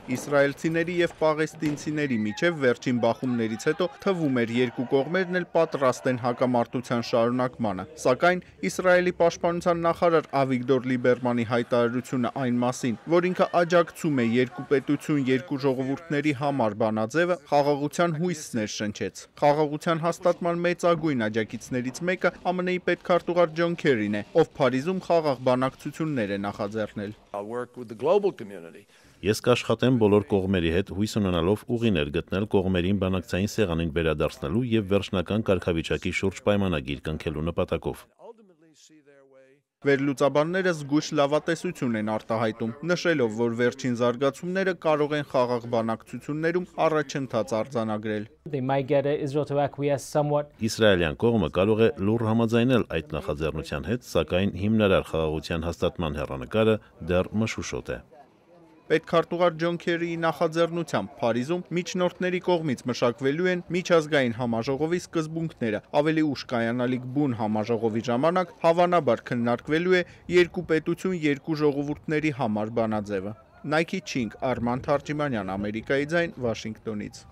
Իսրայելցիների և պաղեստինցիների միջև վերջին բախումներից հետո թվում էր երկու կողմերն էլ պատրաստ են հակամարտության շարունակմանը, սակայն Իսրայելի պաշտպանության նախարար Ավիգդոր Լիբերմանի հայտարարությունը այն մասին, որ ինքը աջակցում է երկու պետություն, երկու ժողովուրդների համար բանաձևը, խաղաղության հույս ներշնչեց։ Խաղաղության հաստատման մեծագույն աջակիցներից մեկը ԱՄՆ-ի պետքարտուղար Ջոն Քերին է, ով Փարիզում խաղաղ բանակցություններ է նախաձեռնել։ Ես կաշխատեմ բոլոր կողմերի հետ հույս ունենալով ուղիներ գտնել կողմերին բանակցային սեղանին վերադարձնելու և վերջնական կարգավիճակի շուրջ պայմանագիր կնքելու նպատակով։ Վերլուծաբանները զգույշ լավատեսություն են արտահայտում, նշելով, որ վերջին զարգացումները կարող են խաղաղ բանակցություններում առաջընթաց արձանագրել։ Իսրայելյան կողմը կարող է լուռ համաձայնել այդ նախաձեռնության հետ, սակայն հիմնարար խաղաղության հաստատման հեռանկարը դեռ մշուշոտ է։ Պետքարտուղար Ջոն Քերիի նախաձեռնությամբ Փարիզում միջնորդների կողմից մշակվելու են միջազգային համաժողովի սկզբունքները, ավելի ուշ կայանալիք բուն համաժողովի ժամանակ հավանաբար քննարկվելու է երկու պետություն, երկու ժողովուրդների համար բանաձևը։ Նայքի Չինգ, Արման Թարջիմանյան, Ամերիկայի ձայն, Վաշինգտոնից։